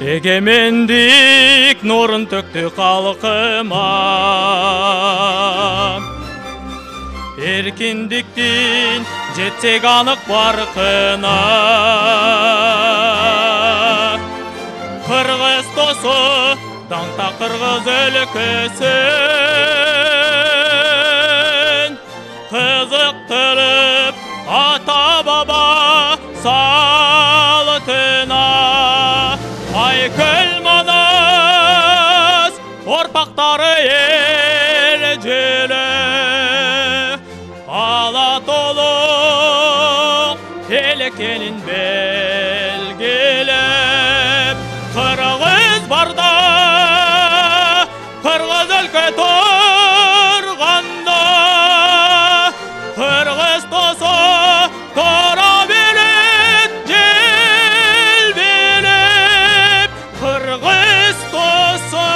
Эгемендик нурун төктү калкыма, эркиндиктин жетсек анык баркына. Кыргыз досу даңта кыргыз өлкөсүн кызыктырып ата баба салтына. Айкөл Манас орпактары эрежеле, ала толук эл экенин белгилеп. Кыргыз барда, кыргыз өлкө турганда, кыргыз досу тора берет жел белеп. Кыргыз досу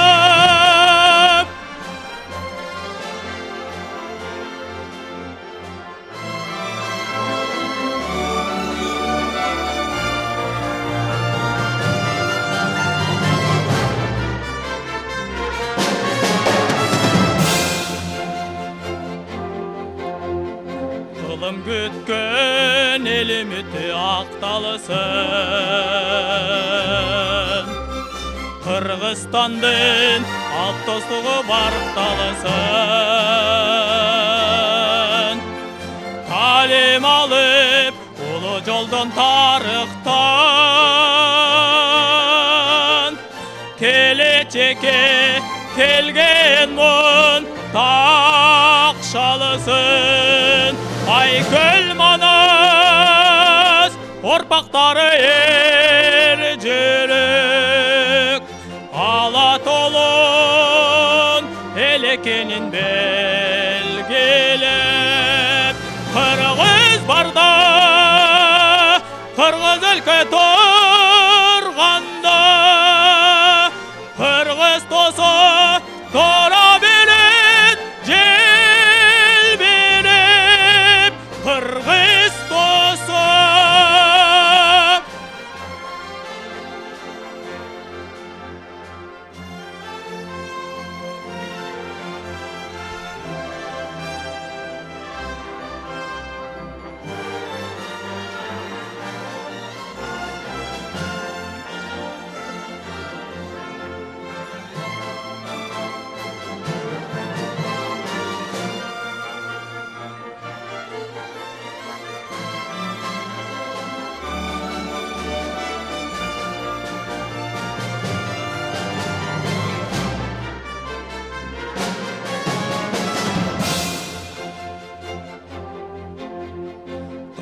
кылым күткөн эл үмүтү акталсын. Кыргызстандын алт достугу баркталсын. Талим алып улуу жолдон тарыхтан, келечекке келген мун такшалысын. Айкөл Манас орпактары эрежелек, ала толун эл экенин белгилеп. Кыргыз барда, кыргыз өлкө турганда, кыргыз досу тора берет жел берип. Кыргыз досу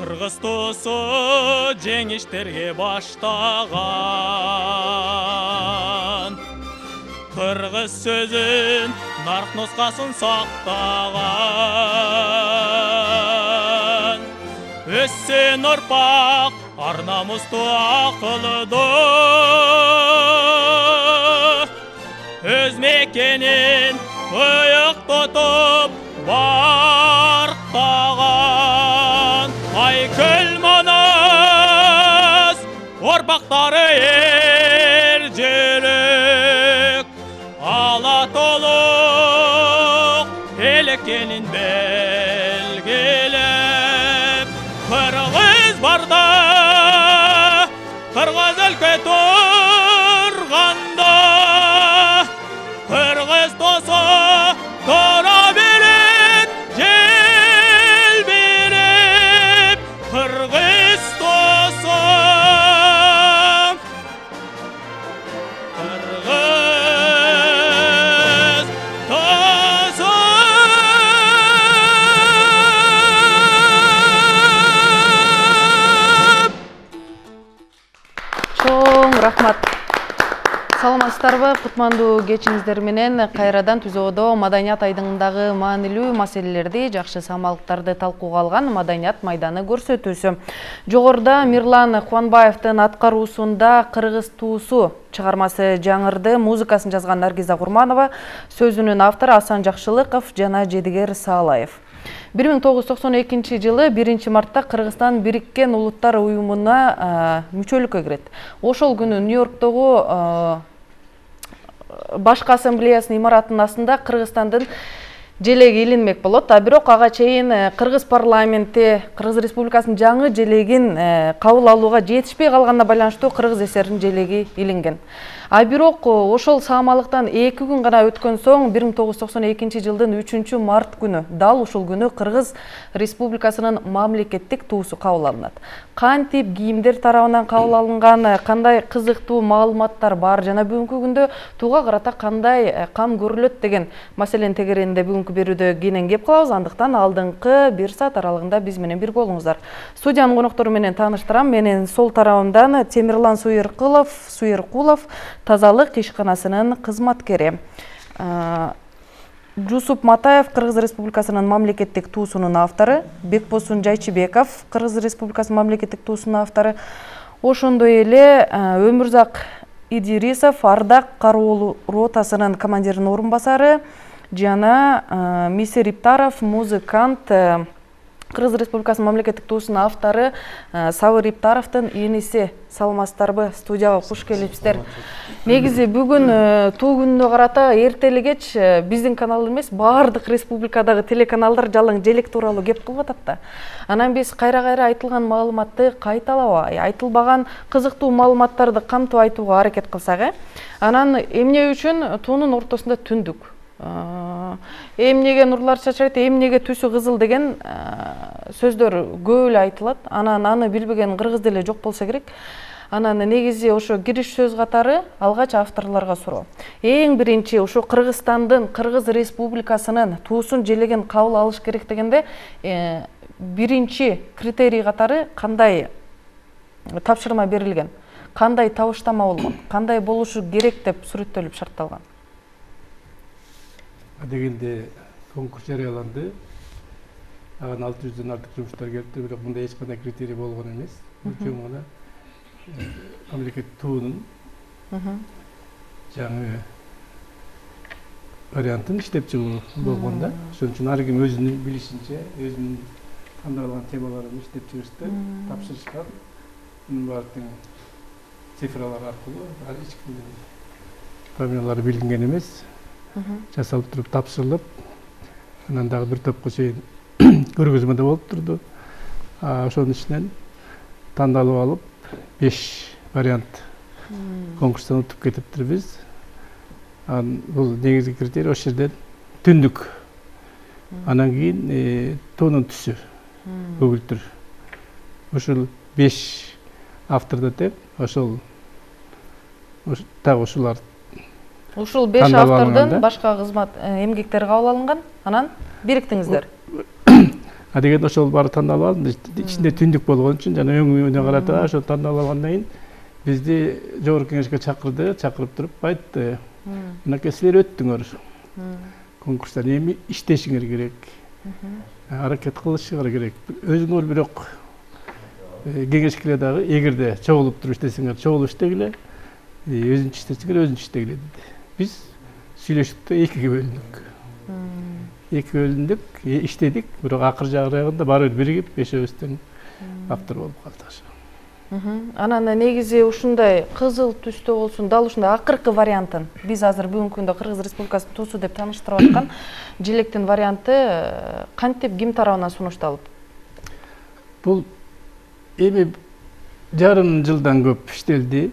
Кыргыз досу жеңиштерге баштаган, кыргыз сөзүн нарк нускасын сактаган. Өссүн урпак ар намусту акылдуу, өз мекенин ыйык тутуп барктаган. Айкөл Манас орпактары эрежелек, ала толук эл экенин белгилеп. Кыргыз барда, кыргыз өлкө турганда, кыргыз досу тора берет жел берип. Кыргыз досу Кыргыз досу Чоң рахмат. Саламатсыздарбы? Кутмандуу кечиңиздер менен кайрадан Түзөөдө маданият айдыңындагы маанилүү маселелерди, жакшы самалыктарды талкууга алган Маданият майданы көрсөтүүсү. Жогоруда Мирлан Кубанбаевдин аткаруусунда Кыргыз туусу чыгармасы жаңырды. Музыкасын жазган Наргиза Курманова, сөзүнүн автору Асан Жакшылыков жана Жедигер Саалаев. 1992 жылы 1 мартта Кыргызстан Бириккен Улуттар уюмуна мүчөлүккө кирет. Ошол күнү Нью-Йорктогу Башкы ассамблеясынын имаратынын астында Кыргызстандын желеги илинмек болот. Бирок ага чейин Кыргыз парламенти Кыргыз Республикасынын жаңы желегин кабыл алууга жетишпей калганына байланыштуу Кыргыз ССРнин желеги илинген. Бирок ошол саамалыктан 2 күн гана өткөн соң 1992 жылдын 3 март күнү, дал ушул күнү Кыргыз Республикасынын мамлекеттик туусу кабыл алынат. Кантип кийимдер тарабынан кабыл алынган, кандай кызыктуу маалыматтар бар жана бүгүнкү күндө туга карата кандай кам көрүлөт деген маселенин тегерегинде бүгүнкү берүүдө кенен кеп калабыз. Андыктан алдыңкы 1 саат аралыгында биз менен бирге болуңуздар. Студиянын коноктору менен тааныштырам. Менин сол тарабымдан Темирлан Суйеркулов, тазалык ишканасынын кызматкери. Жусуп Матаев, Кыргыз Республикасынын мамлекеттик туусунун автору. Бекбосун Жайчыбеков, Кыргыз Республикасынын мамлекеттик туусунун автору. Ошондой эле Өмүрзак Идирисов, Ардак кароолу ротасынын командиринин орун басары жана Мисир Иптаров, музыкант, Кыргыз Республикасынын мамлекеттик туусунун автору Сабыр Иптаровдун иниси. Саламатсыздарбы? Студияга куш келипсиздер. Негизи бүгүн туу күнүнө карата эртели кеч биздин канал эмес, баардык республикадагы телеканалдар жалаң желек тууралуу кеп кылып атат да. Анан биз кайра-кайра айтылган маалыматты кайталабай, айтылбаган кызыктуу маалыматтарды камтып айтууга аракет кылсак, анан эмне үчүн туунун ортосунда түндүк? Эмнеге нурлар чачырайт, эмнеге түсү кызыл деген сөздөр көп эле айтылат. Анан аны билбеген кыргыз деле жок болсо керек. Анан негизи ошо кириш сөз катары алгач авторлорго суроо. Эң биринчи ошо Кыргызстандын, Кыргыз Республикасынын туусун желеген кабыл алыш керек дегенде биринчи критерий катары кандай тапшырма берилген, кандай табыштама болгон, кандай болушу керек деп сүрөттөлүп шартталган. Дегенде конкурс жарыяланды. Ага 600дөн артык жумуштар келипти, бирок мындай эч кандай критерий болгон эмес. Чоң гана мамлекет туунун жаңы вариантын иштеп чыгуу болгон да. Ошон үчүн ар ким өзүнүн билишинче, өзүнүн тандалган темаларын иштеп чыгышты, тапшырышкан. Мунун баардыгы цифралар аркылуу, эч кимдин фамилиялары билинген эмес. Жасалып туруп тапшырылып, анан дагы бир топко чейин көргөзмө да болуп турду. Ошонун ичинен тандалып алып 5 вариант конкурстан өтүп кетиптирбиз. Бул негизги критерий ошол жерден түндүк. Анан кийин туунун түсү көгүлтүр. Ошол 5 автордо деп, ошол так ушулар. Ушул 5 автордун башка кызмат эмгектери кабыл алынган, анан бириктиңиздер. Деген ошол баары тандалып алынды. Ичинде түндүк болгон үчүн жана өңүнө карата ошо тандалып алгандан кийин бизди жогорку кеңешке чакырды, чакырып туруп айтты. Мынакей силер өттүңөр. Конкурстан эми иштешиңер керек. Аракет кылышыңар керек. Өзүңөр бирок кеңешкеле дагы эгерде чогулуп туруп иштесеңер, чогулуп иштегиле. Өзүнчө иштесеңер, өзүнчө иштегиле деди. Биз сүйлөшүп экиге бөлүндүк. Эки бөлүндүк, иштедик, бирок акыр жагында баары бир биригип, бешөөбүздөн автор болуп калды. Анан негизи ушундай кызыл түстө болсун, дал ушундай акыркы вариантын биз азыр бүгүнкү күндө Кыргыз Республикасынын туусу деп тааныштырып аткан желектин варианты кантип ким тарабынан сунушталып? Бул эми жарым жылдан көп иштелди.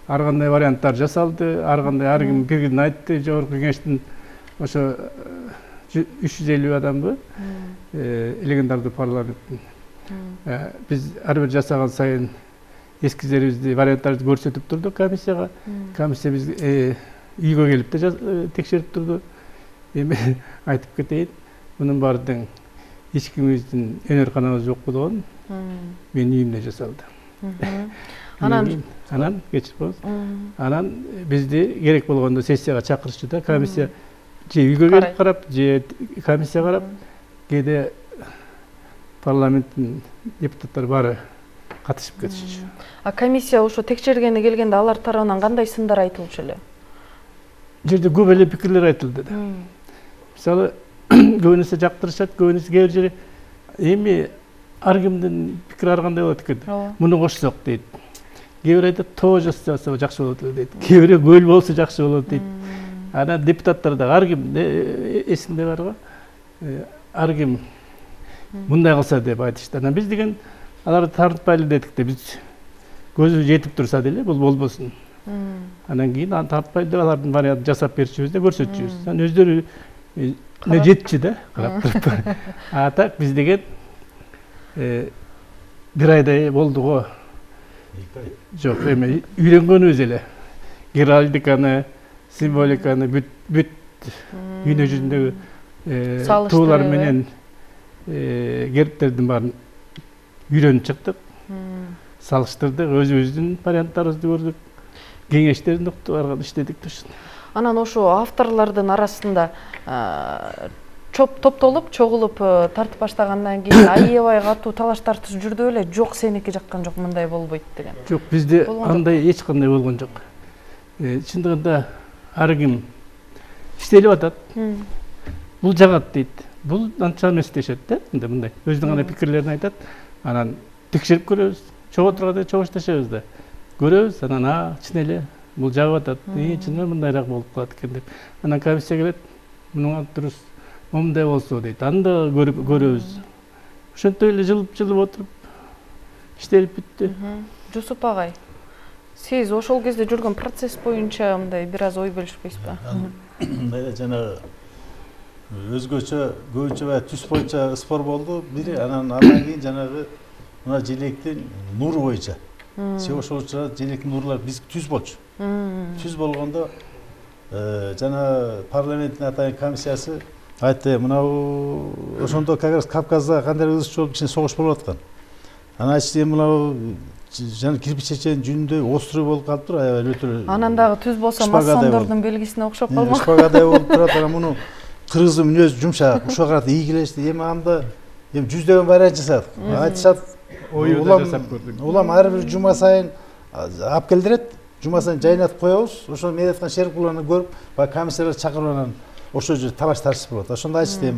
Ар кандай варианттар жасалды, ар кандай ар ким пикирин айтты. Жогорку кеңештин ошо 350 адамбы элегендарды парламенттин. Биз ар бир жасаган сайын эскиздерибизди, варианттарды көрсөтүп турдук комиссияга. Комиссия биз үйгө келип да текшерип турду. Эми айтып кетейин, мунун баардыгы эч кимибиздин өнөр каналыбыз жок болгон менин үйүмдө жасалды. Анан кечирип коюңуз. Анан бизди керек болгондо сессияга чакырышты да, комиссия же үйгө келип карап, же комиссия карап, кээде парламенттин депутаттары баары катышып кетишчү. Комиссия ошо текшергени келгенде алар тарабынан кандай сындар айтылчу эле? Жерде көп эле пикирлер айтылды да. Мисалы, көбүнесе жактырышат, көбүнесе кээ бир жери эми ар кимдин пикири ар кандай болот экен. Муну кошсок дейт. Кээ бир айтат тоо жасаса жакшы болот дейт. Кээ бирөө көл болсо жакшы болот дейт. Анан депутаттар да ар ким эсинде бар го. Ар ким мындай кылса деп айтышты. Анан биз деген аларды тартпайлы дедик да, биз көзү жетип турса деле бул болбосун. Анан кийин аны тартпайлы деп алардын вариантын жасап берчүбүз да, көрсөтчүбүз. Анан өздөрү не жетчи да, карап туруп. А так биз деген бир айдай болду го. Жок, эми үйрөнгөнүбүз эле. Геральдиканы, символиканы бүт дүйнө жүзүндөгү туулар менен гербтердин баарын үйрөнүп чыктык. Салыштырдык, өзүбүздүн варианттарыбызды көрдүк. Кеңештерин уктуп иштедик да. Анан ошо авторлордун арасында топтолуп, чогулуп тартып баштагандан кийин аябай катуу талаш тартыш жүрдү беле? Жок, сеники жаккан жок, мындай болбойт деген. Жок, бизде андай эч кандай болгон жок. Чындыгында ар ким иштелип атат. Бул жагат дейт. Бул анча эмес дешет да, мындай. Өзүнүн гана пикирлерин айтат. Анан текшерип көрөбүз. Чогуу турганда чогушташабыз да. Көрөбүз, анан чын эле бул жагып атат. Чынымен мындайраак болуп калат экен деп. Анан комиссия келет. Мунун дурус мындай болсо дейт. Аны да көрөбүз. Ошентип эле жылып отуруп иштелип бүттү. Жусуп агай, сиз ошол кезде жүргөн процесс боюнча мындай бир аз ой бөлүшпөйсүзбү? Мындай эле жанагы өзгөчө көбүнчө баягы түс боюнча спор болду. Бири андан кийин жанагы мына желектин нуру боюнча. Ошол учурда желектин нурлар биз түз болчу. Түз болгондо жана парламенттин атайын комиссиясы айтты, мынау ошондо как раз Кавказда кандайдыр ызыш болуп кичине согуш болуп аткан. Анан айтышты, мынау жана кирпич чеченин жүнүндөй острый болуп калыптыр, аябай өтө. Анан дагы түз болсо масондордун белгисине окшоп калмак. Шпагадай болуп турат. Анан муну кыргыздын мүнөзү жумшак, ушуга карата ийгилешти. Эми анда жүздөгөн вариант жасадык. Айтышат, улам ар бир жума сайын алып келдирет. Жума сайын жайнатып коебуз. Ошо мен айткан шеркуларны көрүп, баягы комиссиялар чакырып анан ошол жерде талаш тартыш болот. Ошондо айтышты,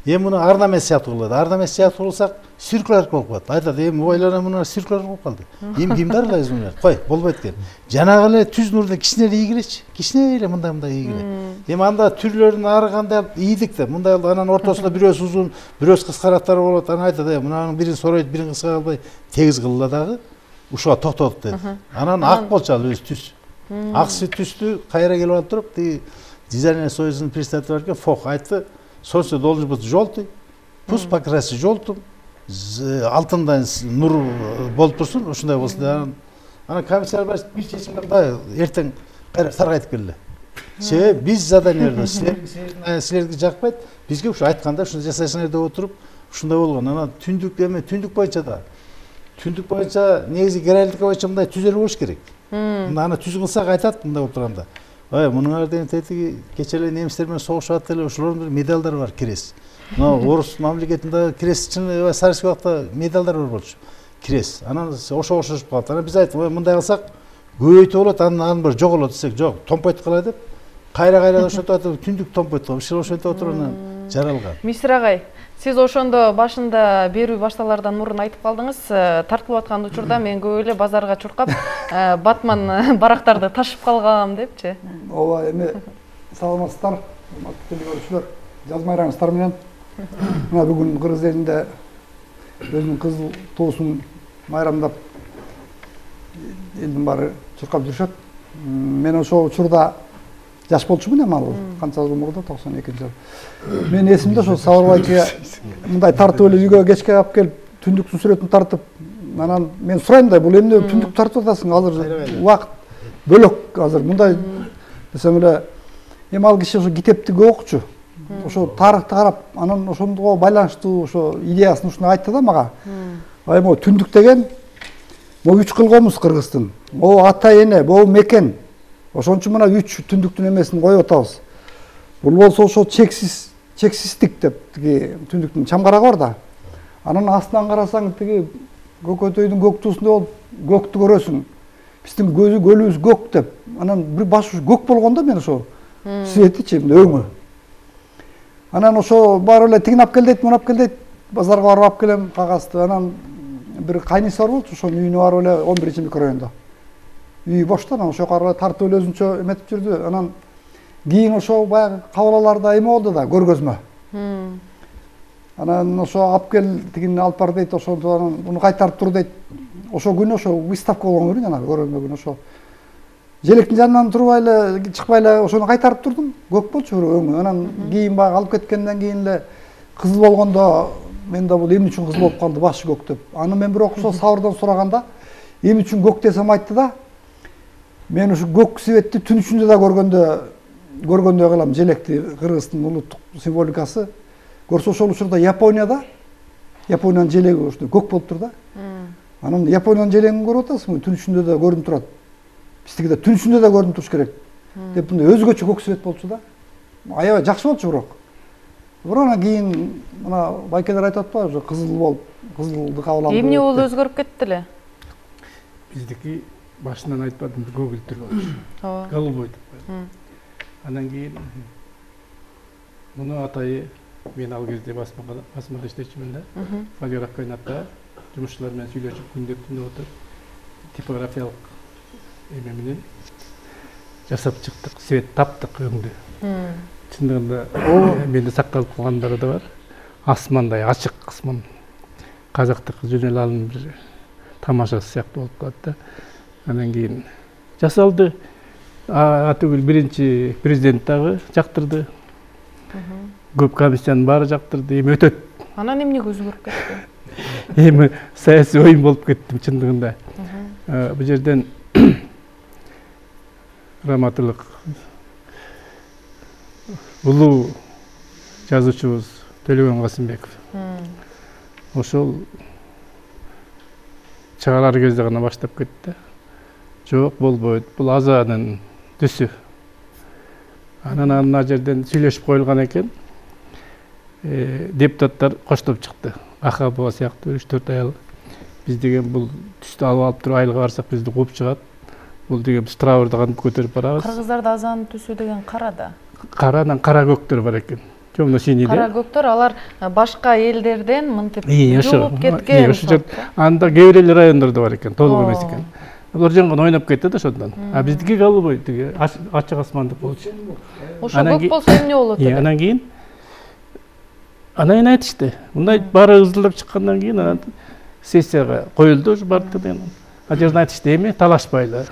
эми муну ар намес сыяктуу кылат. Ар намес сыяктуу кылсак, циркулар болуп калат. Айтат, эми ойлонам, муну циркулар болуп калды. Эми кимди аралайбыз муну? Кой, болбойт экен. Жанагы эле түз нурда кичине эле ийгилечи. Кичине эле мындай ийгиле. Эми анда түрлөрүн ары кандай ийдик да. Мындай анан ортосунда бирөөсү узун, бирөөсү кыскарактары болот. Анан айтат, мунун бирин соройт, бирин кыска кылбай тегиз кылла дагы. Ушуга токтотуп дейт. Анан ак болчу ал өзү түз. Аксы түстү кайра келип алып туруп, тиги дизайнер союзунун председатели бар экен, Фох айтты, солнце должен быть желтый, пусть покрасит желтым, алтындан нур болуп турсун, ушундай болсун. Анан комиссия бир чечим кылды, эртең кайра саргайтып келди. Себеби биз заданиелерде силерге жакпайт, бизге ушу айтканда ушуну жасайсыңар деп отуруп, ушундай болгон. Анан түндүк боюнча да. Түндүк боюнча негизи геральдика боюнча мындай түзөлүү болуш керек. Аны түз кылсак айтат мындай болуп турганда. Мунуңар деген тетиги кече эле немистер менен согушуп атты эле, ошолордун медалдары бар, кирес. Мына орус мамлекетинде кирес чын советский убакта медалдар бар болчу. Кирес. Анан ошого окшошуп калды. Анан биз айттык, мындай кылсак көбөйтүп болот, анан бир жоголот десек, жок, томпойтуп калай деп. Кайра ошентип атып, түндүк томпойтуп, ошентип отуруп анан жаралган. Мистер агай, сиз ошондо башында берүү башталардан мурун айтып калдыңыз, тартылып аткан учурда мен көп эле базарга чуркап, батман барактарды ташып калгам депчи. Ооба, эми саламатсыздар, урматтуу көрүүчүлөр, жаз майрамыңыздар менен. Мына бүгүн кыргыз элинде өзүнүн кызыл туусун майрамдап элдин баары чуркап жүрүшөт. Мен ошол учурда жаш болчумун эми ал канча жыл мурда 92-жыл. Мен эсимде ошо Сабырбайчыга мындай тартып эле үйгө кечке алып келип түндүктүн сүрөтүн тартып, анан мен сурайм да, бул эмне түндүк тартып атасың, азыр убакыт бөлөк азыр мындай десем эле, эми ал киши ошо китепти көп окучу. Ошо тарыхты карап, анан ошондого байланыштуу ошо идеясын ушуну айтты да мага. Могу түндүк деген могу 3 кылгомуз Кыргыздын. Могу ата эне, могу мекен. Ошон үчүн мына 3 түндүктүн эмесин коюп атабыз. Бул болсо ошо чексиздик деп тиги түндүктүн чамгарагы бар да. Анан астынан карасаң тиги көкөтөйдүн көк туусунда болуп көктү көрөсүң. Биздин көлүбүз көк деп. Анан бир баш көк болгондо мен ошо светичи өңү. Анан ошо баары эле тигин алып кел дейт, муну алып кел дейт. Базарга барып алып келем кагазды. Анан бир кайниси бар болчу, ошонун үйүнө барып эле 11 микрорайондо. Үй бошту, анан ошо кара тартып эле өзүнчө эметип жүрдү. Анан кийин ошо баягы кабылаларда эме болду да, көргөзмө. Анан ошо алып кел, тигини алып бар дейт, ошондо анан муну кайтарып тур дейт. Ошо күнү ошо выставка болгон күнү жанагы көргөзмө күнү ошо. Желектин жанынан турбай эле, чыкпай эле ошону кайтарып турдум. Көк болчу өңү. Анан кийин баягы алып кеткенден кийин эле кызыл болгондо мен да бул эмне үчүн кызыл болуп калды, башы көк деп. Аны мен бирок ошо сабырдан сураганда эмне үчүн көк десем айтты да. Мен ушу көк светти түн ичинде да көргөндөй кылам желекти, Кыргыздын улуттук символикасы. Көрсө ошол учурда Япониянын желеги ушундай көк болуп тур да. Анан Япониянын желегин көрүп атасыңбы? Түн ичинде да көрүнүп турат. Биздики да түн ичинде да көрүнүп туруш керек. Деп мындай өзгөчө көк свет болчу да. Аябай жакшы болчу бирок. Бирок анан кийин мына байкелер айтып атпайбы, ошо кызыл болуп, кызылды кабыл алды. Эмне болуп өзгөрүп кетти эле? Биздики башынан айтпадым, көгүлтүр болчу. Ооба. Голубой деп коет. Анан кийин муну атайы мен ал кезде басмада иштечүмүн да. Фолиограф кайнатта жумушчулар менен сүйлөшүп күндөп түнөп отуруп типографиялык эме менен жасап чыктык, свет таптык өңдү. Чындыгында менде сакталып калгандары да бар. Асмандай ачык асман. Казактык жөнөл бир тамашасы сыяктуу болуп калат да. Анан кийин жасалды. Атүгүл биринчи президент дагы жактырды. Көп комиссиянын баары жактырды. Эми өтөт. Анан эмнеге өзгөрүп кетти? Эми саясий оюн болуп кеттим чындыгында. Бул жерден раматылык улуу жазуучубуз Төлөгөн Касымбеков. Ошол чыгарар кезде гана баштап кетти. Жок, болбойт. Бул азанын түсү. Анан ана жерден сүйлөшүп коюлган экен. Депутаттар коштоп чыкты. Ахабова сыяктуу 3-4 аял. Биз деген бул түстү алып туруп айылга барсак бизди кууп чыгат. Бул деген биз траурду кантип көтөрүп барабыз. Кыргыздарда азанын түсү деген кара да. Каранан кара көктөр бар экен. Темно-синий. Кара көктөр алар башка элдерден мынтип жугуп кеткен. Анда кээ бир райондордо бар экен, толук эмес экен. Булар жаңгы ойноп кетти да ошондон. Биздики голубой тиги ачык асмандык болчу. Ошо көк болсо эмне болот эле? Анан кийин айтышты. Мындай баары ызылдап чыккандан кийин анан сессияга коюлду ушу бардык деген. А жерден айтышты эми талашпайлар.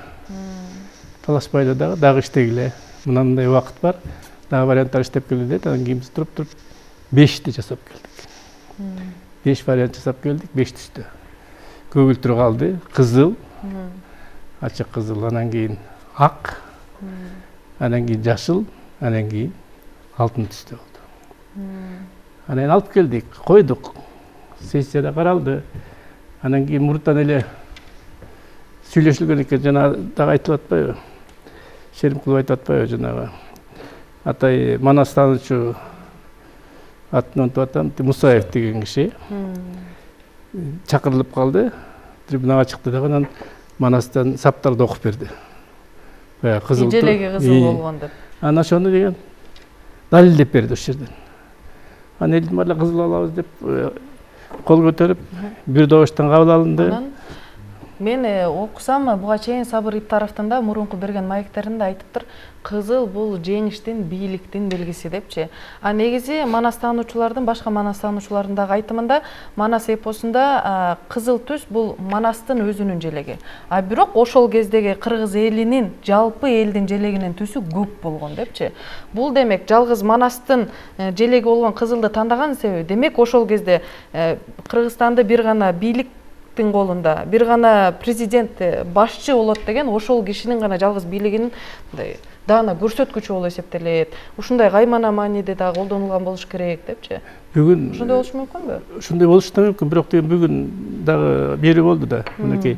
Талашпайлар дагы иштегиле. Мындай убакыт бар. Дагы варианттар иштеп келди дейт. Анан кийин биз туруп 5ти жасап келдик. 5 вариант жасап келдик, 5 түстө. Көгүлтүр калды, кызыл, ачык кызыл, анан кийин ак, анан кийин жашыл, анан кийин алтын түстө болду. Анан алып келдик, койдук. Сессияда каралды. Анан кийин муртан эле сүйлөшүлгөн экен, жана дагы айтылып атпайбы? Шеримкулов айтып атпайбы жанагы? Атай Манастанычу атын унутуп атам, Мусаев деген киши чакырылып калды. Трибунага чыкты да, анан Манастан саптарды окуп берди. Баягы кызыл. Желеги кызыл болгон деп. Анан ошону деген далилдеп берди ошол жерден. Анан элдин баары кызыл алабыз деп кол көтөрүп, бир добуштан кабыл алынды. Мен окусам, буга чейин Сабыр Иптаровдун да мурунку берген маектеринде айтыптыр, кызыл бул жеңиштин, бийликтин белгиси депчи. А негизи манастануучулардын, башка манастануучулардын дагы айтымында Манас эпосунда кызыл түс бул Манастын өзүнүн желеги. А бирок ошол кездеги кыргыз элинин, жалпы элдин желегинин түсү көк болгон депчи. Бул демек жалгыз Манастын желеги болгон кызылды тандаган себеби, демек ошол кезде Кыргызстанда бир гана бийлик колунда, бир гана президент башчы болот деген ошол кишинин гана жалгыз бийлигинин даана көрсөткүчү болуп эсептелет. Ушундай каймана мааниде да колдонулган болуш керек депчи. Бүгүн ушундай болуш мүмкүнбү? Ушундай болуш да мүмкүн, бирок деген бүгүн дагы бери болду да. Мынакей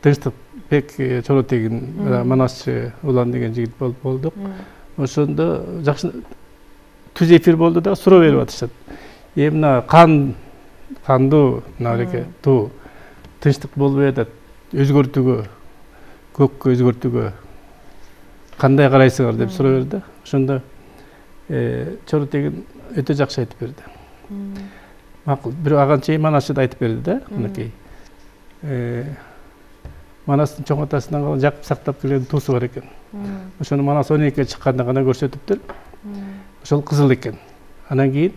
Тынчтыкбек Чоротегин Манасчы Улан деген жигит болдук. Ошондо жакшы түз эфир болду да, суроо берип атышат. Мына кандуу мынабеке туу тынчтык болбой атат, өзгөртүүгө, көккө өзгөртүүгө кандай карайсыңар деп суроо берди. Ошондо Чорутегин өтө жакшы айтып берди. Макул, бирок ага чейин Манасчы да айтып берди да, мынакей. Манастын чоң атасынан калган жакып сактап келген туусу бар экен. Ошону Манас 12-ге чыкканда гана көрсөтүптүр. Ошол кызыл экен. Анан кийин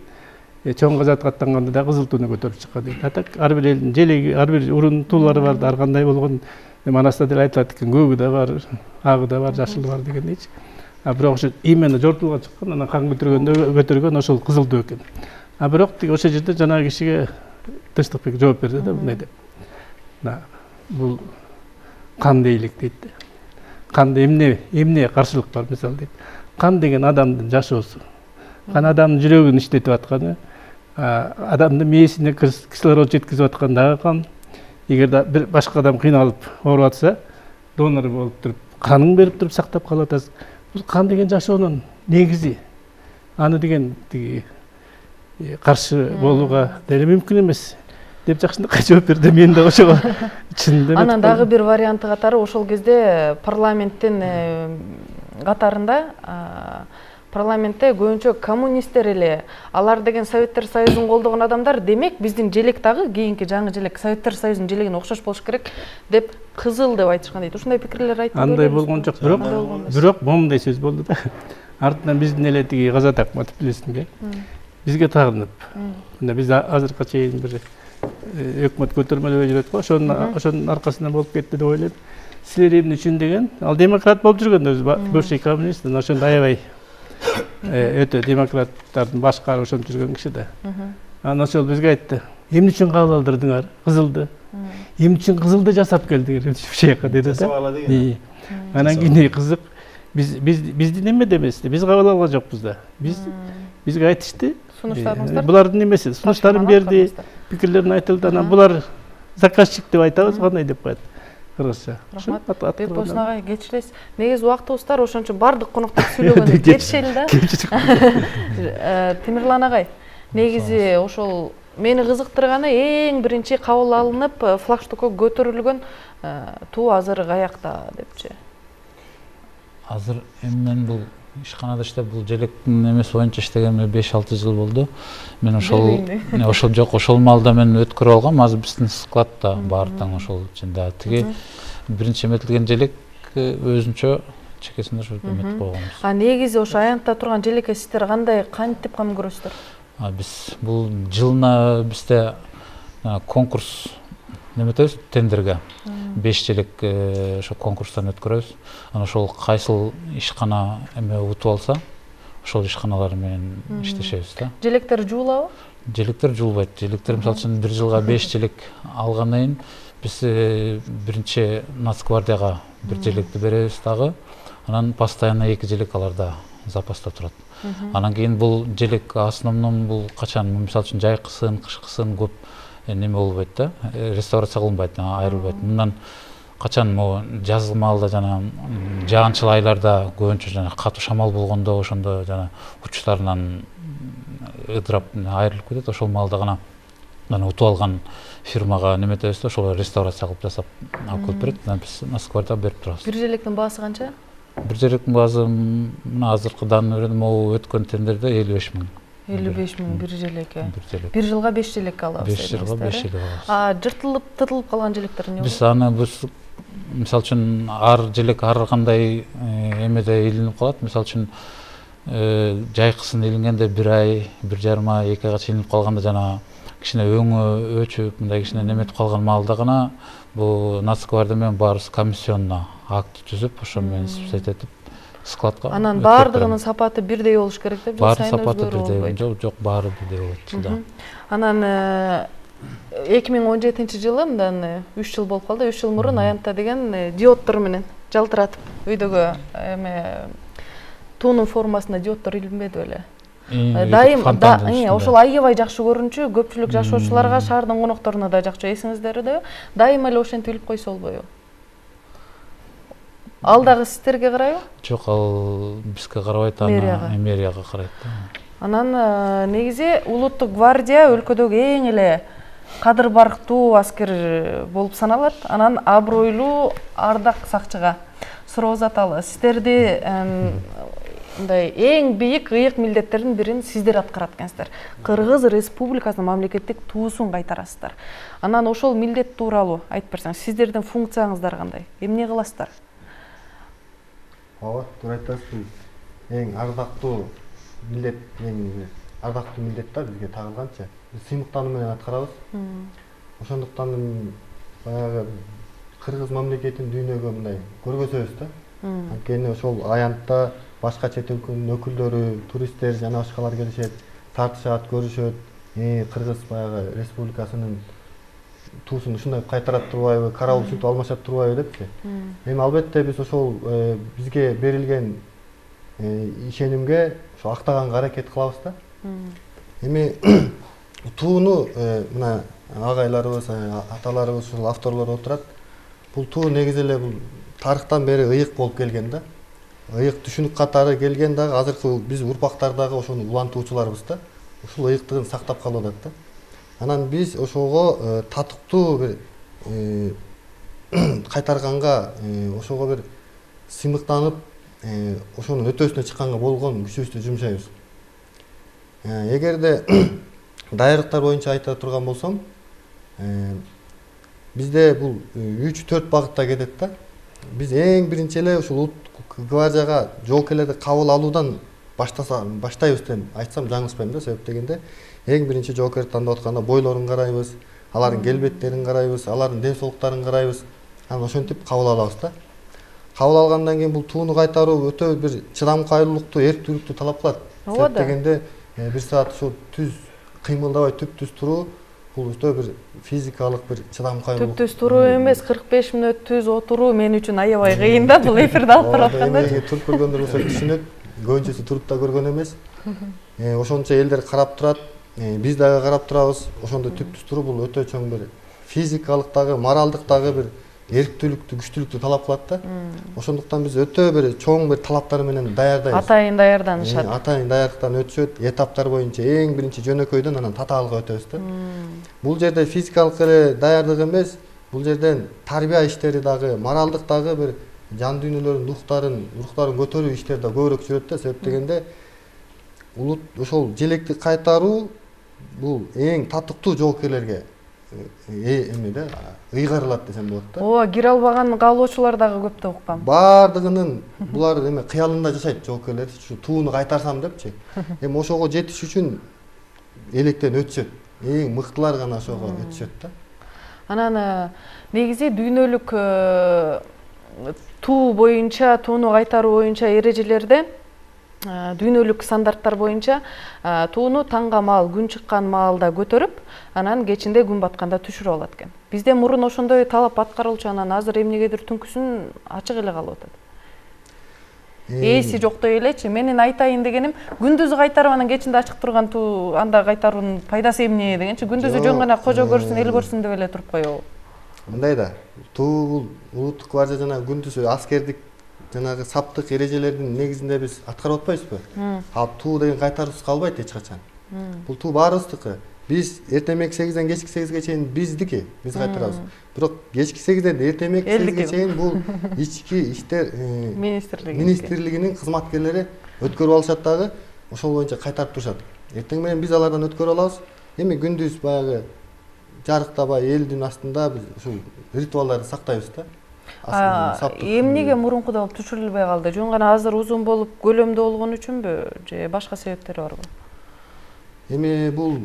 чоң казат аттанганда да кызыл тууну көтөрүп чыккан дейт. Атак ар бир элдин желеги, ар бир урун туулары бар да, ар кандай болгон Манаста деле айтылат экен, көөгү да бар, агы да бар, жашылы бар дегендейчи. Бирок ошо именно жортулга чыккан, анан кан көтөргөн ошол кызыл туу экен. Бирок тиги ошол жерде жанагы кишиге Тынчтыкбек жооп берди да, мындай деп. Бул кан дейлик дейт. Канда эмне каршылык бар мисалы дейт. Кан деген адамдын жашоосу. Кан адамдын жүрөгүн иштетип атканы, адамдын мээсине кислород жеткизип аткан дагы кан. Эгерде бир башка адам кыйналып ооруп атса, донор болуп туруп, канын берип туруп сактап калып атасыз. Бул кан деген жашоонун негизи. Аны деген тиги каршы болууга деле мүмкүн эмес деп жакшынакай жооп берди. Мен да ошого чынында. Анан дагы бир варианты катары ошол кезде парламенттин катарында парламентте көбүнчө коммунисттер эле, алар деген Советтер Союзун колдогон адамдар, демек биздин желек дагы кийинки жаңы желек Советтер Союзунун желегине окшош болуш керек деп кызыл деп айтышкан дейт. Ушундай пикирлер айтып көрдүңүзбү? Андай болгон жок, бирок момундай сөз болду да. Артынан биздин эле тиги Казат Акматов билесиңби? Бизге тагынып. Мында биз азыркы чейин бир өкмөт көтөрмөлөбөй жүрөт го, ошонун аркасынан болуп кетти деп ойлойм. Силер эмне үчүн деген, ал демократ болуп жүргөн өзү, бывший коммунист, ошондо аябай өтө демократтардын башкары ошонтип жүргөн киши да. Анан ошол бизге айтты, эмне үчүн кабыл алдырдыңар кызылды? Эмне үчүн кызылды жасап келдиңер ушуяка деди да. Анан кийин кызык, биздин эме демести, биз кабыл алган жокпуз да. Бизге айтышты. Булардын эмеси, сунуштарын берди, пикирлерин айтылды. Анан булар заказчик деп айтабыз, кандай деп коет кыргызча. Рахмат. Бекболсун агай, кечиресиз. Негизи убактыбыз бар, ошон үчүн бардык коноктор сүйлөгөндө кетишели да. Темирлан агай, негизи ошол мени кызыктырганы эң биринчи кабыл алынып, флагштокко көтөрүлгөн туу азыр каякта депчи. Азыр мен бул ишканада иштеп, бул желектин эмеси боюнча иштегениме 5-6 жыл болду. Мен ошол жок, ошол маалда мен өткөрүп алгам. Азыр биздин складда бар таң ошол ичинде. Тиги биринчи эметилген желек өзүнчө чекесинде ошо эметип койгонбуз. Негизи ошо аянтта турган желекке сиздер кандай кантип кам көрөсүздөр? Биз бул жылына бизде конкурс неметебиз, тендерге 5 желек ошо конкурстан өткөрөбүз. Анан ошол кайсыл ишкана эме утуп алса, ошол ишканалар менен иштешебиз да. Желектер жуулабы? Желектер жуулбайт. Желектер мисалы үчүн бир жылга 5 желек алгандан кийин биз биринчи Нацгвардияга бир желекти беребиз дагы. Анан постоянно 2 желек аларда запаста турат. Анан кийин бул желек основном бул качан, мисалы үчүн жайкысын, кышкысын көп неме болбойт да, реставрация кылынбайт, айрылбайт. Мындан качан жазгы маалда жана жаанчыл айларда көбүнчө жана катуу шамал болгондо ошондо жана учтарынан ыдырап айрылып кетет. Ошол маалда гана утуп алган фирмага неметебиз да, ошол реставрация кылып жасап алып келип берет. Анан биз Насквардияга берип турабыз. Бир желектин баасы канча? Бир желектин баасы мына азыркыдан могу өткөн тендерде 55 000. 55 000 бир желекке. Бир жылга 5 желек алабыз. 5 жылга 5 желек алабыз. Жыртылып, тытылып калган желектер эмне болот? Биз аны мисалы үчүн ар желек ар кандай эмеде илинип калат. Мисалы үчүн жайкысын илингенде 1 ай, 1,5 ай, 2 айга чейин илинип калганда жана кичине өңү өчүп, мындай кичине неметип калган маалда гана бул Нацгвардия менен баарыбыз комиссионно акт түзүп, ошо менен этип складка. Анан баардыгынын сапаты бирдей болуш керек деп, жыл сайын өзгөрүп, жок, баары бирдей болот да. Анан 2017 жылы, мындан 3 жыл болуп калды, 3 жыл мурун аянтта деген диоддор менен жалтыратып өйдөгө эме туунун формасында диоддор илинбеди беле? Дайым ошол аябай жакшы көрүнчү, көпчүлүк жашоочуларга, шаардын конокторуна да жакчу, эсиңиздерде дайыма эле ошентип илип койсо болбойбу? Ал дагы сиздерге карайбы? Жок, ал бизге карабайт, мэрияга карайт. Анан негизи улуттук гвардия өлкөдөгү эң эле кадыр барктуу аскер болуп саналат. Анан абройлуу ардак сакчыга суроо узаталы. Сиздерди мындай эң бийик ыйык милдеттердин бирин сиздер аткарат экенсиздер. Кыргыз Республикасынын мамлекеттик туусун кайтарасыздар. Анан ошол милдет тууралуу айтып берсеңиз, сиздердин функцияңыздар кандай? Эмне кыласыздар? Ооба, туура айтасыз. Эң ардактуу милдет, эң ардактуу милдет да бизге тагылганча. Биз сыймыктануу менен аткарабыз. Ошондуктан баягы кыргыз мамлекетин дүйнөгө мындай көргөзөбүз да. Анткени ошол аянтта башка чет өлкөнүн өкүлдөрү, туристтер жана башкалар келишет, тартышат, көрүшөт. Кыргыз баягы республикасынын туусун ушундай кайтарат турбайбы, карабыл сүтүп алмашат турбайбы депчи. Эми албетте биз ошол бизге берилген ишенимге ошо актаганга аракет кылабыз да. Эми тууну мына агайларыбыз, аталарыбыз, ушул авторлор отурат. Бул туу негизи эле бул тарыхтан бери ыйык болуп келген да. Ыйык түшүнүк катары келген дагы азыркы биз урпактар дагы ошону улантуучуларбыз да. Ушул ыйыктыгын сактап калып атат да. Анан биз ошого татыктуу бир кайтарганга, ошого бир сыймыктанып, ошонун өтөөсүнө чыкканга болгон күчүбүздү жумшайбыз. Эгерде даярдыктар боюнча айта турган болсом, бизде бул 3-4 багытта кетет да. Биз эң биринчи эле ушул улуттук гвардияга жоокерлерди кабыл алуудан баштайбыз деп айтсам жаңылышпайм да. Себеп дегенде эң биринчи жоокерди тандап атканда бойлорун карайбыз, алардын келбеттерин карайбыз, алардын ден соолуктарын карайбыз. Анан ошентип кабыл алабыз да. Кабыл алгандан кийин бул тууну кайтаруу өтө бир чыдамкайлуулукту, эрктүүлүктү талап кылат. Себеп дегенде бир саат ушул түз кыймылдабай түп-түз туруу бул өтө бир физикалык бир чыдамкайлуулук. Түп-түз туруу эмес, 45 мүнөт түз отуруу мен үчүн аябай кыйын да, бул эфирде алып барып атканда. Туруп көргөндөр болсо түшүнөт. Көбүнчөсү туруп да көргөн эмес. Ошончо элдер карап турат, биз дагы карап турабыз. Ошондой түп-түз туруу бул өтө чоң бир физикалык дагы, моралдык дагы бир эрктүүлүктү, күчтүүлүктү талап кылат да. Ошондуктан биз өтө бир чоң бир талаптар менен даярдайбыз. Атайын даярданышат. Атайын даярдыктан өтүшөт, этаптар боюнча эң биринчи жөнөкөйдөн анан татаалга өтөбүз да. Бул жерде физикалык эле даярдык эмес, бул жерден тарбия иштери дагы, моралдык дагы бир жан дүйнөлөрүнүн рухтарын көтөрүү иштери да көбүрөөк жүрөт да. Себеп дегенде ошол желекти кайтаруу бул эң татыктуу жоокерлерге эмеде ыйгарылат десем болот да. Ооба, кире албаган каалоочулар дагы көп деп уккам. Бардыгынын булар эме кыялында жашайт жоокерлер, ушу тууну кайтарсам депчи. Эми ошого жетиш үчүн электен өтүшөт. Эң мыктылар гана ошого өтүшөт да. Анан негизи дүйнөлүк туу боюнча, тууну кайтаруу боюнча эрежелерде дүйнөлүк стандарттар боюнча тууну таңга маал, күн чыккан маалда көтөрүп, анан кечинде күн батканда түшүрүп алат экен. Бизде мурун ошондой талап аткарылчу, анан азыр эмнегедир түнкүсүн ачык эле калып атат. Ээси жоктой элечи. Менин айтайын дегеним, күндүзү кайтарып анан кечинде ачык турган туу анда кайтаруунун пайдасы эмне дегенчи, күндүзү жөн гана кожо көрсүн, эл көрсүн деп эле туруп коебу. Мындай да, туу бул улуттук гвардия жана күндүзү аскердик жанагы саптык эрежелердин негизинде биз аткарып атпайбызбы? Ал туу деген кайтаруусуз калбайт эч качан. Бул туу баарыбыздыкы. Биз эртемек 8ден кечки 8ге чейин биздики, биз кайтарабыз. Бирок кечки 8ден эртемек 8ге чейин бул ички иштер министрлигинин кызматкерлери өткөрүп алышат дагы, ошол боюнча кайтарып турушат. Эртең менен биз алардан өткөрүп алабыз. Эми күндүз баягы жарыктабай элдин астында биз ушул ритуалдарды сактайбыз да. Эмнеге мурункудай болуп түшүрүлбөй калды? Жөн гана азыр узун болуп көлөмдүү болгон үчүнбү же башка себептери барбы? Эми бул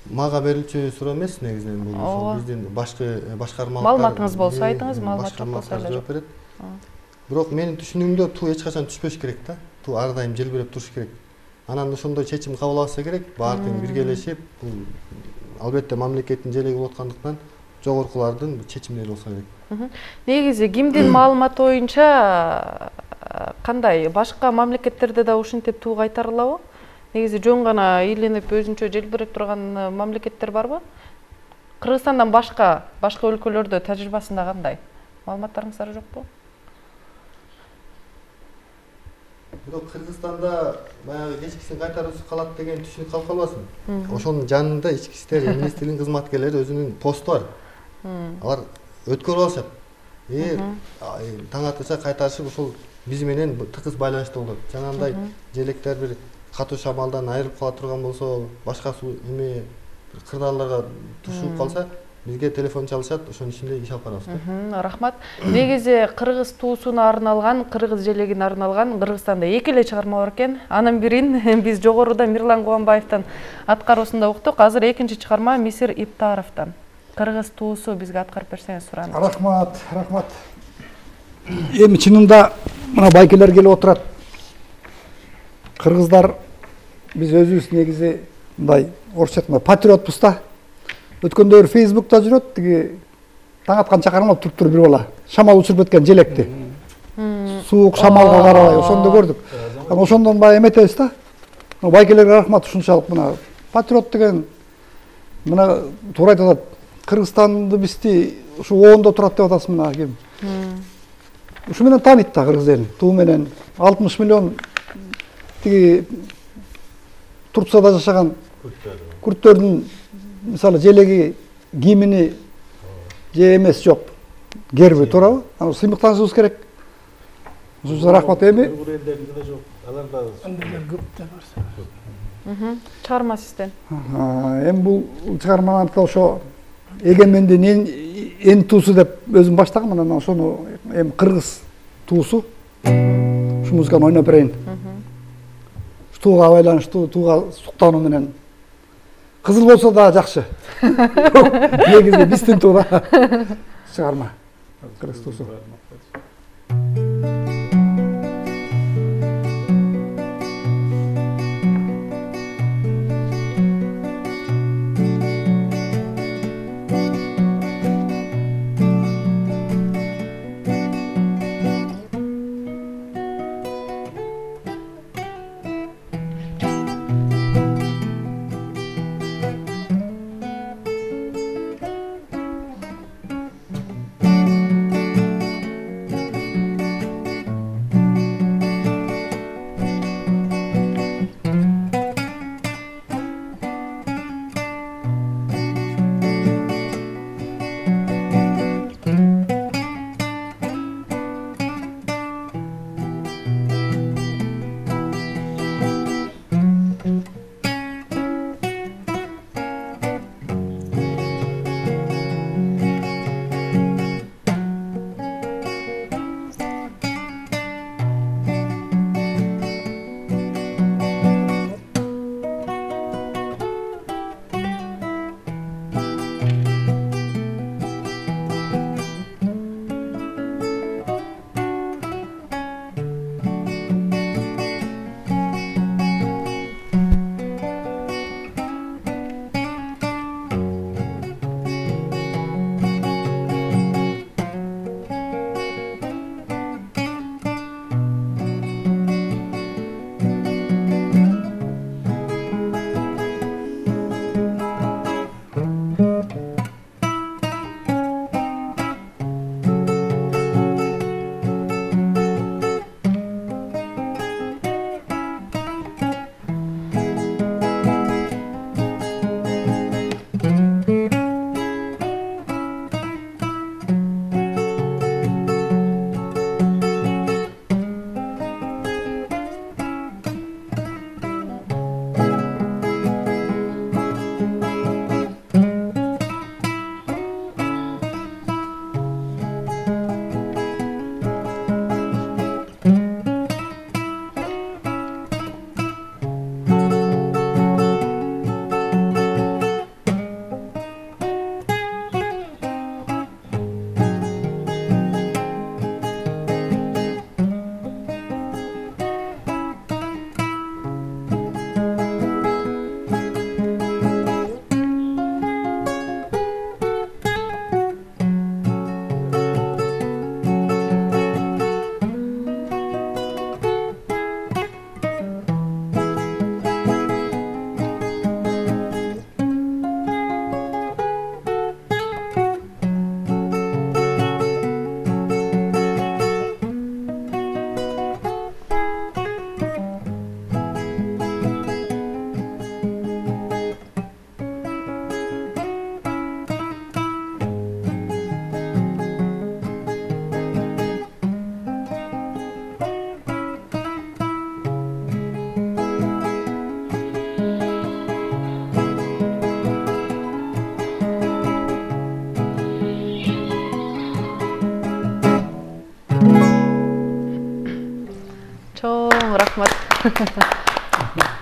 мага берилчү суроо эмес негизинен, бул ошол биздин башкармалыктар. Маалыматыңыз болсо айтыңыз, маалымат жок болсо эле жооп берет. Бирок менин түшүнүгүмдө туу эч качан түшпөш керек да. Туу ар дайым желбиреп туруш керек. Анан ошондой чечим кабыл алса керек, баардыгы биргелешип, бул албетте мамлекеттин желеги болуп аткандыктан жогоркулардын чечимдери болсо керек. Негизи кимдин маалыматы боюнча кандай башка мамлекеттерде да ушинтип туу кайтарылабы? Негизи жөн гана ийленип өзүнчө желбиреп турган мамлекеттер барбы? Кыргызстандан башка өлкөлөрдө тажрыйбасында кандай? Маалыматтарыңыздар жокпу? Бирок Кыргызстанда баягы кечкисин кайтаруусу калат деген түшүнүк калып калбасын. Ошонун жанында ички иштер министрлигинин кызматкерлери өзүнүн посту бар. Алар өткөрүп алышат. Таң атышса кайтарышып ошол биз менен тыгыз байланыштуу болот. Жанагындай желектер бир катуу шамалдан айрылып кала турган болсо, башка суу эме кырдаалдарга тушуп калса, бизге телефон чалышат, ошонун ичинде иш алып барабыз да. Рахмат. Негизи кыргыз туусуна арналган, кыргыз желегине арналган Кыргызстанда эки эле чыгарма бар экен. Анын бирин биз жогоруда Мирлан Кубанбаевдин аткаруусунда уктук. Азыр экинчи чыгарма Мисир Иптаровдон. Кыргыз туусу бизге аткарып берсеңиз суранат. Рахмат, рахмат. Эми чынында мына байкелер келип отурат. Кыргыздар биз өзүбүз негизи мындай орусча айтканда патриотпуз да. Өткөндө Facebook'та жүрөт, тиги таң атканча кармап туруп бир бала шамал учуруп кеткен желекти. Суук шамалга карабай ошондо көрдүк. Анан ошондон баягы эметебиз да. Байкелерге рахмат, ушунчалык мына патриот деген мына туура айтат. Кыргызстанды бизди ушу оондо турат деп атасыз мына ким. Ушу менен тааныйт да кыргыз элин. Туу менен 60 миллион тиги Турцияда жашаган күрттөрдүн мисалы желеги, кийимини же эмес жок. Герби туурабы? Аны сыймыктанышыбыз керек. Ушуга рахмат. Эми Чыгарма сизден. Эми бул чыгарманы ошо эгемендин эн туусу деп өзүм баштагам, анан ошону эми кыргыз туусу ушу музыканы ойноп берейин. Тууга байланыштуу, тууга суктануу менен. Кызыл болсо да жакшы. Негизи биздин туура чыгарма. Кыргыз туусу.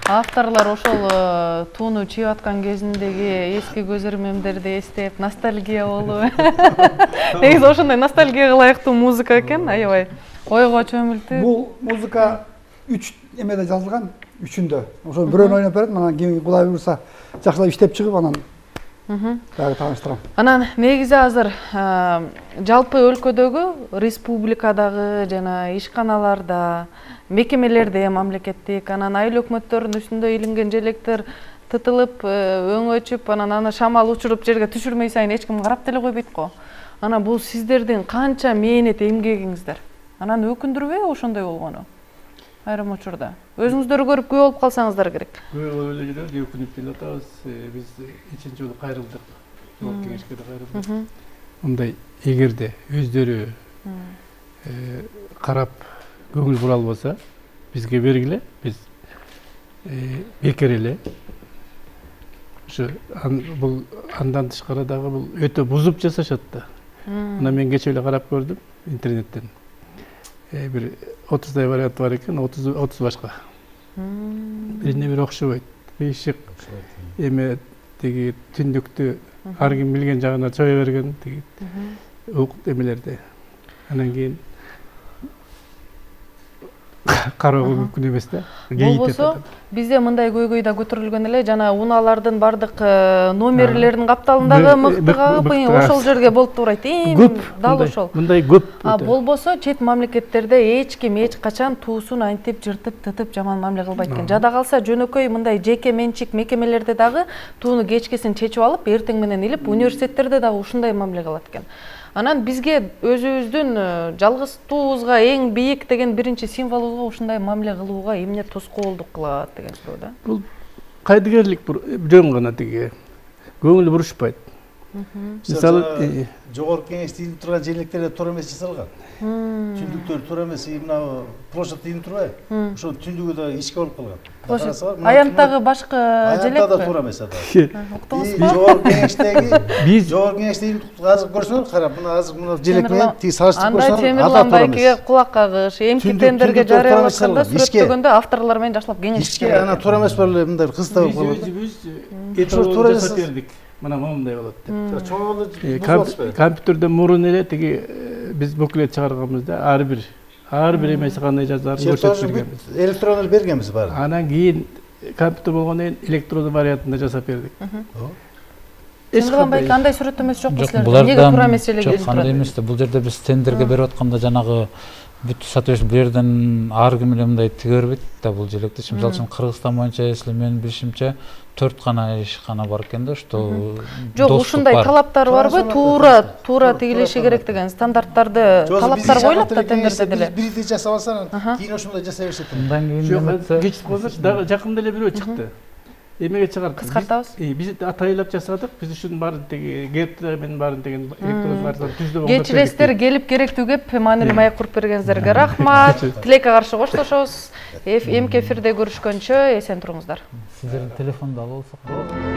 Авторлар ошол тууну чыйып аткан кезиндеги эски көзөрмөмдөрдү эстеп, ностальгия болуп. Негизи ошондой ностальгияга ылайыктуу музыка экен, аябай ойго чөмүлтүп. Бул музыка 3 эмеде жазылган, 3-үндө. Ошо бирөөнү ойноп берет, анан кийин Кудай буйруса жакшылап иштеп чыгып анан дагы тааныштырам. Анан негизи азыр жалпы өлкөдөгү республикадагы жана ишканаларда, мекемелерде мамлекеттик, анан айыл өкмөттөрдүн үстүндө илинген желектер тытылып, өңөчүп, анан аны шамал учуруп жерге түшүрмөй сайын эч ким карап деле койбойт го. Анан бул сиздердин канча мээнет эмгегиңиздер. Анан өкүндүрбөйбү ошондой болгону? Айрым учурда. Өзүңүздөр көрүп күбө болуп калсаңыздар керек. Күбө болуп эле жүрөбүз, өкүнүп деле атабыз. Биз 3-нчи жолу кайрылдык. Жогорку кеңешке да кайрылдык. Мындай эгерде өздөрү карап көңүл бура албаса, бизге бергиле, биз бекер эле. Ошо бул андан тышкары дагы бул өтө бузуп жасашат да. Мына мен кече эле карап көрдүм интернеттен. Бир 30 вариант бар экен, 30 башка. Бирине бири окшобойт. Кыйшык эме тиги түндүктү ар ким билген жагына чое берген тиги эмелерди. Анан кийин кароого мүмкүн эмес да. Болбосо бизде мындай көйгөй да көтөрүлгөн эле, жана унаалардын бардык номерлеринин капталындагы мыкты кагып, ошол жерге болуп турайт. Көп, дал ошол. Мындай көп. Болбосо чет мамлекеттерде эч ким эч качан туусун антип жыртып, тытып жаман мамиле кылбайт экен. Жада калса жөнөкөй мындай жеке менчик мекемелерде дагы тууну кечкесин чечип алып, эртең менен илип, университеттерде дагы ушундай мамиле кылат экен. Анан бизге өзүбүздүн жалгызтуубузга эң бийик деген биринчи символубузга ушундай мамиле кылууга эмне тоскоолдук кылат деген суроо да. Бул кайдыгерлик жөн гана тиги. Көңүл бурушпайт. Мисалы, жогорку кеңеште илип турган желектерде туура эмес жасалган. Түндүктөр туура эмес, мына площадь илип турбайбы? Ошо түндүгү да ичке болуп калган. Аянттагы башка желек Аянтта да туура эмес ада. Уктуңузбу? Жогорку кеңеште илип азыр көрсөңөр, карап, мына азыр мына желек менен тиги салыштырып көрсөңөр, анда Темирлан байкеге кулак кагыш, эмки тендерге жарыялатканда сүрөттөгөндө авторлор менен жакшылап кеңешиш керек. Ичке ана туура эмес бар эле мындай кызда болуп калат. Өзүбүз туура жасап бердик. Мына момундай болот деп. Чоң компьютерден мурун эле тиги биз буклет чыгарганбызда ар бир эмеси кандай жазаарын көрсөтүп бергенбиз. Электронду бергенбиз баары. Анан кийин компьютер болгондон кийин электрондуу вариантында жасап бердик. Темирлан байке андай сүрөттөмөсү жокпу силерде? Неге туура эмес эле келип турат? Жок, андай эмес да. Бул жерде биз тендерге берип атканда жанагы бүт соответственно бул жерден ар ким эле мындай тиге бербейт да бул желекти. Мисалы үчүн Кыргызстан боюнча если менин билишимче 4 гана ишкана бар экен да, что жок, ушундай талаптар барбы? Туура тигилиши керек деген стандарттарды талаптар коюлат да тендерде деле. Бирди жасап алсаң, кийин ошондой жасай беришет. Андан кийин кечип калсачы, дагы жакында эле бирөө чыкты. Эмеге чыгарды? Кыскартабыз. Биз атайлап жасадык. Биз ушунун баарын тиги гептмен баарын деген электрондуу вариантты түздүп алып. Кечиресиздер, келип керектүү кеп маанилүү маек куруп бергениңиздерге рахмат. Тилекке каршы коштошобуз. Эмки эфирде көрүшкөнчө эсен туруңуздар. Сиздердин телефонду алып алсак болот.